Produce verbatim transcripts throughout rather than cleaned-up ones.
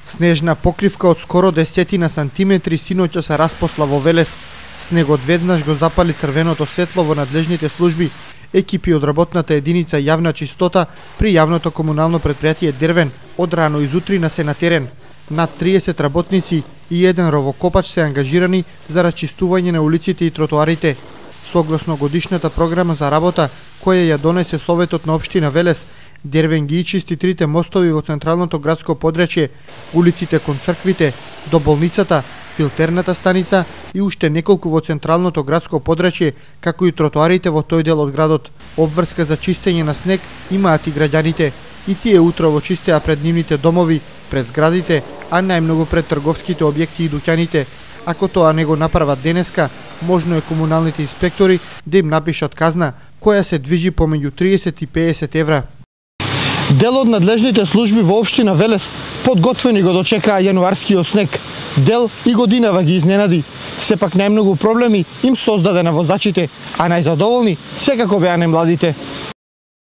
Снежна покривка од скоро десетина сантиметри синоќа се распосла во Велес. Снегот веднаш го запали црвеното светло во надлежните служби. Екипи од работната единица јавна чистота при јавното комунално претпријатие Дервен од рано изутрина се на терен. Над триесет работници и еден ровокопач се ангажирани за расчистување на улиците и тротоарите. Согласно годишната програма за работа која ја донесе Советот на општина Велес, Дервен ги чисти трите мостови во централното градско подрачје, улиците кон црквите, до болницата, филтерната станица и уште неколку во централното градско подрачје, како и тротоарите во тој дел од градот. Обврска за чистење на снег имаат и граѓаните. И тие утрово чистеа пред нивните домови, пред зградите, а најмногу пред трговските објекти и дуќаните. Ако тоа не го направат денеска, можно е комуналните инспектори да им напишат казна, која се движи помеѓу триесет и песет евра. Дел од надлежните служби во општина Велес подготвени го дочекаа јануарскиот снег. Дел и годинава ги изненади. Сепак најмногу проблеми им создаде на возачите, а најзадоволни секако беа најмладите.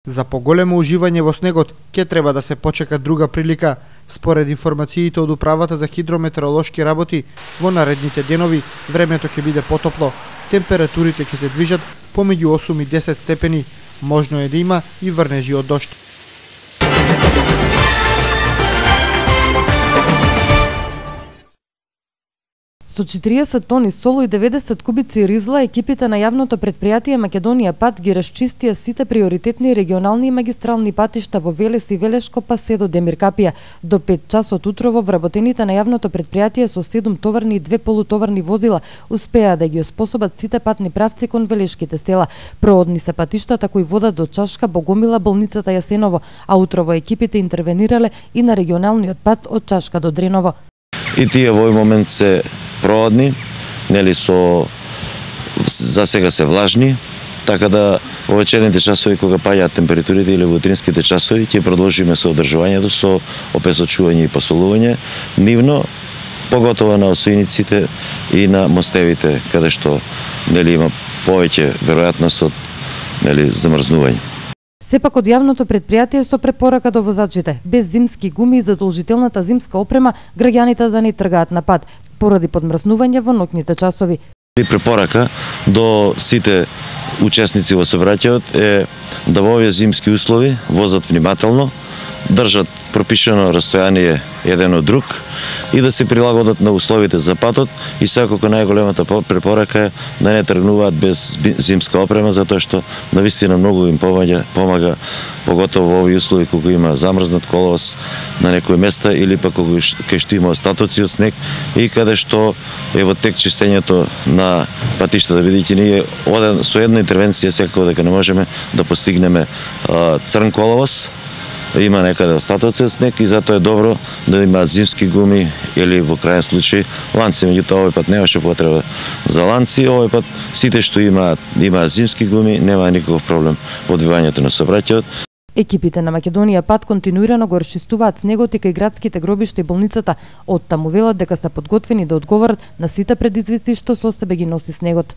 За поголемо уживање во снегот ќе треба да се почека друга прилика. Според информациите од Управата за хидрометеоролошки работи, во наредните денови времето ќе биде потопло. Температурите ќе се движат помеѓу осум и десет степени. Можно е да има и врнежи од дожд. Со четириесет тони соло и деветдесет кубици ризла, екипите на јавното претпријатие Македонија пат ги расчистија сите приоритетни регионални и магистрални патишта во Велес и Велешко па се до Демиркапија. До пет часот утрово вработените на јавното претпријатие со седум товарни и две полутоварни возила успеа да ги оспособат сите патни правци кон велешките села. Проводни се патиштата кои водат до Чашка, Богомила, болницата Јасеново, а утрово екипите интервенирале и на регионалниот пат од Чашка до Дреново. И тие во овој момент се проводни, нели со за сега се влажни, така да во вечерните часови кога паѓаат температурите или во утринските часови ќе продолжиме со одржувањето, со опесочување и посолување нивно, поготово на осојниците и на мостевите каде што нели има повеќе веројатност од нели замрзнување. Сепак од јавното претпријатие со препорака до возачите, без зимски гуми и задолжителната зимска опрема, граѓаните да не тргаат на пат, поради подмрзнување во ноќните часови. Препорака до сите учесници во сообраќајот е да во овие зимски услови возат внимателно, држат пропишано растојание еден од друг и да се прилагодат на условите за патот и секако најголемата препорака е да не тргнуваат без зимска опрема, затоа што навистина многу им помага, помага поготово во овие услови кога има замрзнат коловоз на некои места или пак кога кај што има остатоци од снег и каде што е во тек чистењето на патиштата, бидејќи ние оден со една интервенција секако дека не можеме да постигнеме а, црн коловоз. Има некаде остатоци од снег и затоа е добро да има зимски гуми или во крајен случај ланци. Меѓутоа овој пат немаше потреба за ланци, овој пат сите што имаат имаат зимски гуми, нема никаков проблем во одвивањето на сообраќајот. Екипите на Македонија пат континуирано го расчистуваат снегот и кај градските гробишта и болницата. Од таму велат дека се подготвени да одговорат на сите предизвици што со себе ги носи снегот.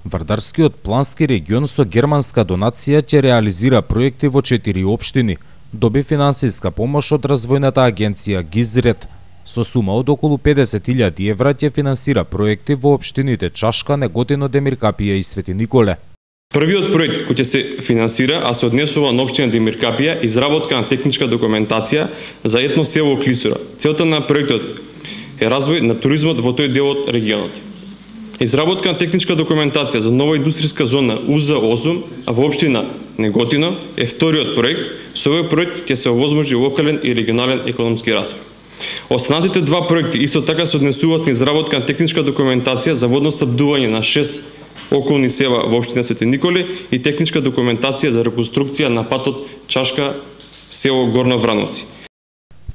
Вардарскиот плански регион со германска донација ќе реализира проекти во четири општини. Доби финансиска помош од развојната агенција Гизрет. Со сума од околу педесет илјади евра ќе финансира проекти во општините Чашка, Неготино, Демиркапија и Свети Николе. Првиот проект кој ќе се финансира, а се однесува на општина Демиркапија, изработка на техничка документација за етно село Клисура. Целта на проектот е развој на туризмот во тој дел од регионот. Изработка на техничка документација за нова индустријска зона У З осум, а во општина Неготино е вториот проект. Со овој проект ќе се овозможи локален и регионален економски развој. Останатите два проекти исто така се однесуваат на изработка на техничка документација за водоснабдување на шест околни села во општина Свети Николе и техничка документација за реконструкција на патот Чашка село Горно Врановци.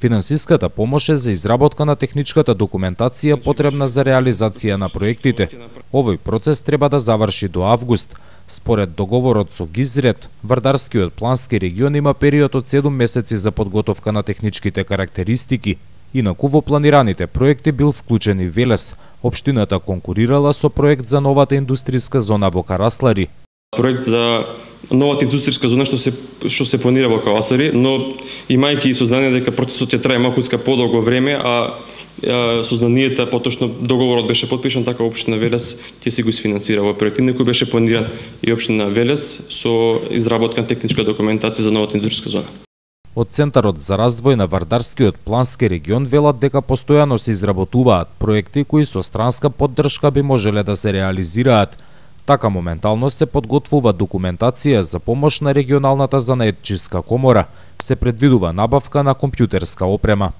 Финансиската помош е за изработка на техничката документација потребна за реализација на проектите. Овој процес треба да заврши до август. Според договорот со Гизрет, Вардарскиот плански регион има период од седум месеци за подготовка на техничките карактеристики. Инаку во планираните проекти бил вклучен и Велес. Општината конкурирала со проект за новата индустријска зона во Караслари. Проект за новата индустријска зона што се што се планира во Кавасари, но имајќи сознание дека процесот ќе трае малкуцка подолго време, а сознанието, поточно договорот беше потпишан, така општина Велес ќе си го isfinansira овој проект. Некој беше планиран и општина Велес со изработка на техничка документација за новата индустријска зона. Од Центарот за развој на Вардарскиот плански регион велат дека постојано се изработуваат проекти кои со странска поддршка би можеле да се реализираат. Така моментално се подготвува документација за помош на регионалната занаетчиска комора. Се предвидува набавка на компјутерска опрема.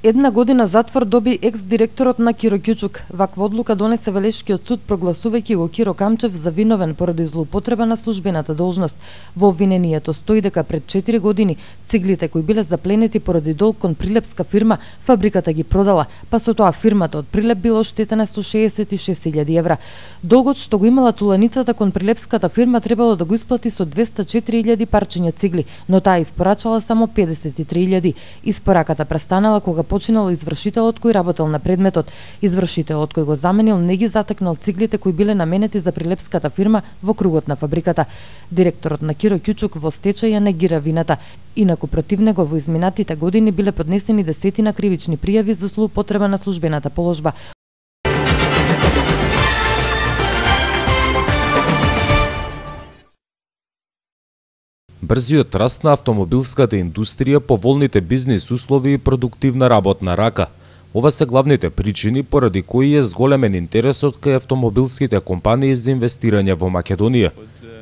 Една година затвор доби екс-директорот на Киро Кјучук. Ваква одлука донесе Велешкиот суд, прогласувајќи го Киро Камчев за виновен поради злоупотреба на службената должност. Во обвинението стои дека пред четири години циглите кои биле запленети поради долг кон прилепска фирма, фабриката ги продала, па со тоа фирмата од Прилеп била оштетена со шеесет и шест илјади евра. Долгот што го имала туланицата кон прилепската фирма требало да го исплати со двеста и четири илјади парчиња цигли, но таа испорачала само педесет и три илјади. Испораката престанала кога починал извршителот кој работел на предметот. Извршителот кој го заменил не ги затекнал циглите кои биле наменети за прилепската фирма во кругот на фабриката. Директорот на Киро Кјучук во стечај ја негира вината. Инаку против него во изминатите години биле поднесени десетина кривични пријави за злоупотреба на службената положба. Брзиот раст на автомобилската индустрија, поволните бизнис услови и продуктивна работна рака. Ова се главните причини поради кои е зголемен интересот кај автомобилските компании за инвестирање во Македонија.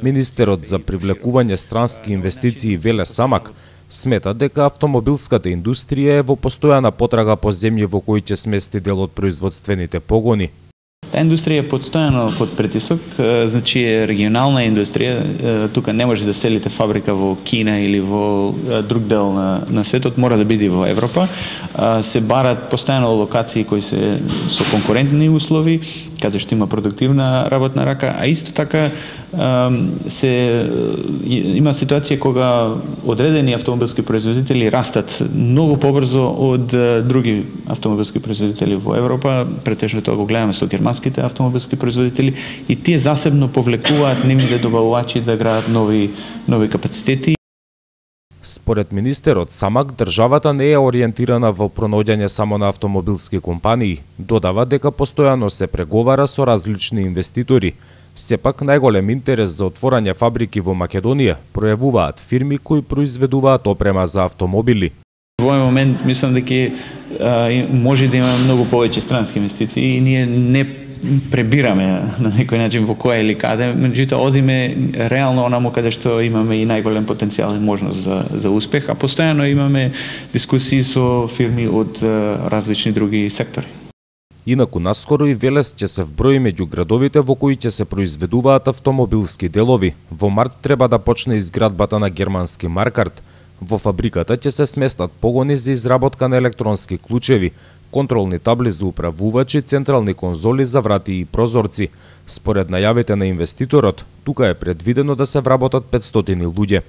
Министерот за привлекување странски инвестиции Веле Самак смета дека автомобилската индустрија е во постојана потрага по земји во кои ќе смести дел од производствените погони. Таа индустрија е постојано под притисок, значи е регионална индустрија, тука не може да селите фабрика во Кина или во друг дел на, на светот, мора да биде во Европа. Се барат постојано локации кои се со конкурентни услови, каде што има продуктивна работна рака, а исто така се има ситуација кога одредени автомобилски производители растат многу побрзо од други автомобилски производители во Европа, претежно тоа го гледаме со германските автомобилски производители, и тие засебно повлекуваат нивните добавувачи да градат нови нови капацитети. Според министерот Самак, државата не е ориентирана во пронаоѓање само на автомобилски компании. Додава дека постојано се преговара со различни инвеститори. Сепак најголем интерес за отворање фабрики во Македонија пројавуваат фирми кои произведуваат опрема за автомобили. Во овој момент мислам дека може да има многу повеќе странски инвестиции и ние не пребираме на некој начин во која или каде, меѓутоа одиме реално онаму каде што имаме и најголем потенцијал и можност за за успех, а постојано имаме дискусии со фирми од различни други сектори. Инаку наскоро и Велес ќе се вброи меѓу градовите во кои ќе се произведуваат автомобилски делови. Во март треба да почне изградбата на германски Маркарт. Во фабриката ќе се сместат погони за изработка на електронски клучеви, контролни табли за управувачи, централни конзоли за врати и прозорци. Според најавите на инвеститорот, тука е предвидено да се вработат петстотини луѓе.